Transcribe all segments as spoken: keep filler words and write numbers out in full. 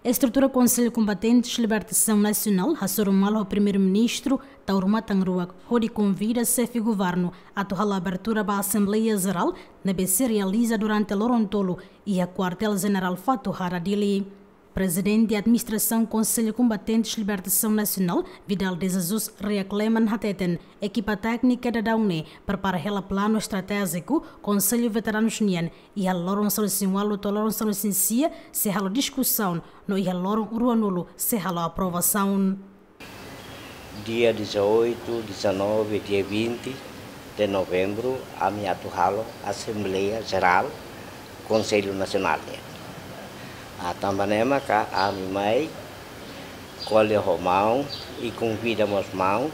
Estrutura Konsellu Kombatentes Libertasaun Nasionál hasoru malu ho Primeiru-Ministru Taur Matan Ruak hodi konvida Xefe Governu atu halo abertura ba Asembleia Jerál ne'ebé sei realiza durante loron tolu iha Kuartél Jenerál Fatuhada, Dili. Prezidente Administrasaun Konsellu Kombatentes Libertasaun Nasionál, Vidal de Jesus Reak Leman, hateten ekipa téknika daudaun ne'e prepara hela planu estratéjiku Konsellu Veteranus nian iha loron sanulu-resin-ualu to'o loron sanulu-resin-sia sei halo diskusaun no iha loron ruanulu sei halo aprovasaun. Dia dezoito, dezanove, dia vinte de novembro, ami atu halo Asembleia Jerál Konsellu Nasionál nian. Ah, tanba ne'e maka ami mai ko'alia ho maun i konvida mós maun,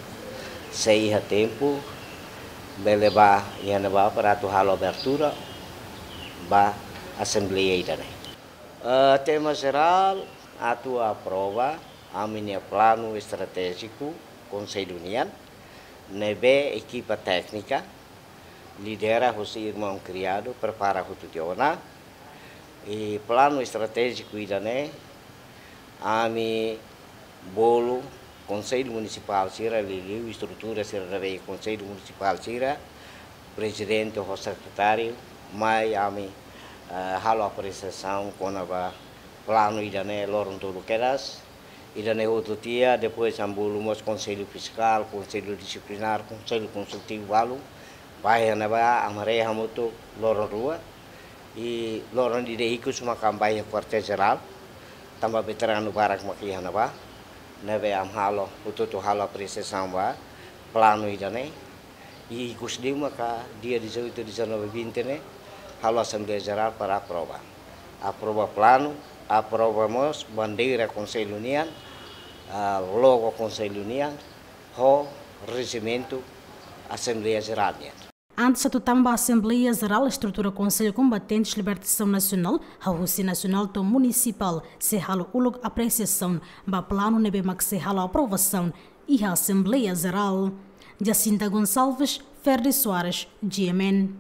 se iha tempu, bele bá iha ne'ebá para atu halo abertura ba Asembleia ida-ne'e. Ah, tema jerál atu aprova ami-nia planu estratéjiku Konsellu nian, ne'ebé ekipa téknika lidera husi irmaun Criado prepara hotu tiha ona. I planu estratéjiku ida-ne'e ami bolu Konsellu Munisipál sira, liuliu estrutura sira ne'ebé Konsellu Munisipál sira, prezidente ho sekretáriu, mai ami, eh, halo apresiasaun kona-ba planu ida-ne'e loron tolu kedas. Ida-ne'e hotu tiha, depois ami bolu mós Konsellu Fiskál, Konsellu Disiplinár, Konsellu Konsultivu balu. Bá iha ne'ebá, ami haree hamutuk loron rua. I loron ida ikus maka ami bá iha Kuartél Jerál. Tanba veteranu barak maka iha ne'ebá. Ne'ebé ami halo, hotu-hotu halo apresiasaun ba planu ida-ne'e. I ikus liu maka dia dezoito, dezanove, vinte ne'e, halo Asembleia Jerál para aprova. Aprova planu, aprova mós bandeira Konsellu nian, ah, logo Konsellu nian, ho rejimentu Asembleia Jerál nian. Antes atu tama ba Asembleia Jerál, estrutura Konsellu Kombatentes Libertasaun Nasionál, hahú husi nasionál to'o munisipál, sei halo uluk apresiasaun ba planu ne'ebé mak sei halo aprovasaun iha Asembleia Jerál. Jacinta Gonçalves, Ferdi Soares, G M N.